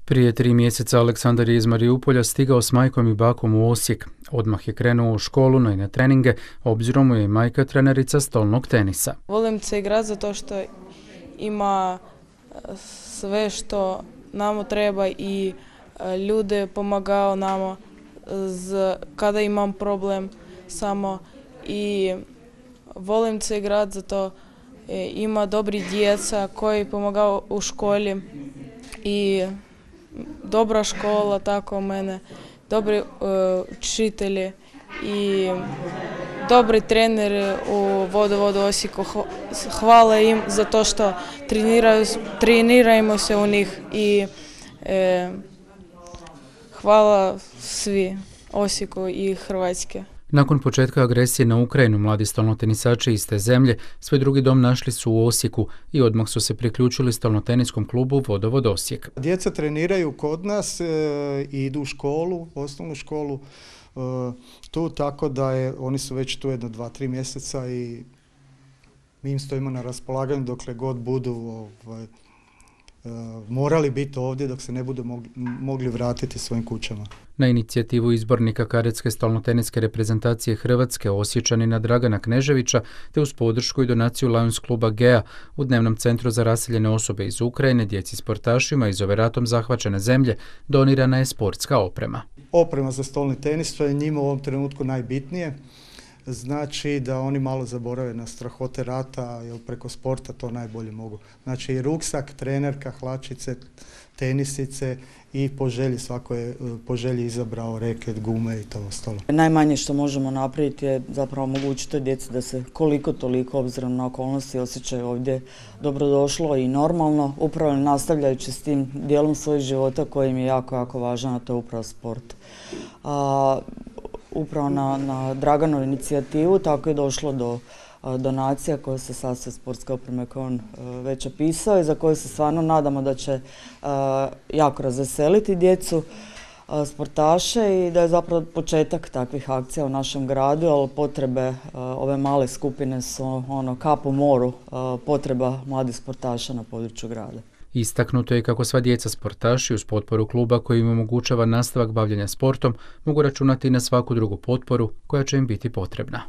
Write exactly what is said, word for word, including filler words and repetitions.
Prije tri mjeseca Aleksandar je iz Mariupolja stigao s majkom i bakom u Osijek. Odmah je krenuo u školu, no i na treninge, obzirom mu je majka trenerica stolnog tenisa. Volim se igrati zato što ima sve što nam treba i ljude pomagaju nama kada imam problem samo. I volim se igrati zato ima dobri djeca koji pomagaju u školi i dobra škola, tako u mene, dobri uh, učitelji i dobri treneri u Vodovodu Osijeku. Hvala im za to što treniraju, trenirajmo se u njih i e, hvala svi Osijeku i Hrvatske. Nakon početka agresije na Ukrajinu, mladi stolnotenisači iz te zemlje svoj drugi dom našli su u Osijeku i odmah su se priključili stolnoteniskom klubu Vodovod Osijek. Djeca treniraju kod nas e, i idu u školu, osnovnu školu e, tu, tako da je, oni su već tu jedno dva, tri mjeseca i mi im stojimo na raspolaganju dokle god budu ovaj, e, morali biti ovdje, dok se ne budu mogli, mogli vratiti svojim kućama. Na inicijativu izbornika kadetske stolnoteniske reprezentacije Hrvatske, Osječanina Dragana Kneževića, te uz podršku i donaciju Lions kluba Gea u dnevnom centru za raseljene osobe iz Ukrajine, djeci sportašima iz ove ratom zahvaćene zemlje, donirana je sportska oprema. Oprema za stolni tenis, to je njima u ovom trenutku najbitnije. Znači da oni malo zaborave na strahote rata, jer preko sporta to najbolje mogu. Znači i ruksak, trenerka, hlačice, tenisice i po želji, svako je po želji izabrao reket, gume i to ostalo. Najmanje što možemo napraviti je zapravo omogućiti djeci da se koliko toliko, obzirom na okolnosti, osjećaju ovdje dobrodošlo i normalno, upravo nastavljajući s tim dijelom svojeg života koji im je jako, jako važan, a to je upravo sport. A, upravo na, na Draganovu inicijativu tako je došlo do a, donacija koje se sastoje sportske opreme koje on a, već opisao i za koje se stvarno nadamo da će a, jako razveseliti djecu, a, sportaše i da je zapravo početak takvih akcija u našem gradu, ali potrebe a, ove male skupine su ono, kap u moru a, potreba mladih sportaša na području grada. Istaknuto je kako sva djeca sportaši uz potporu kluba koji im omogućava nastavak bavljenja sportom mogu računati na svaku drugu potporu koja će im biti potrebna.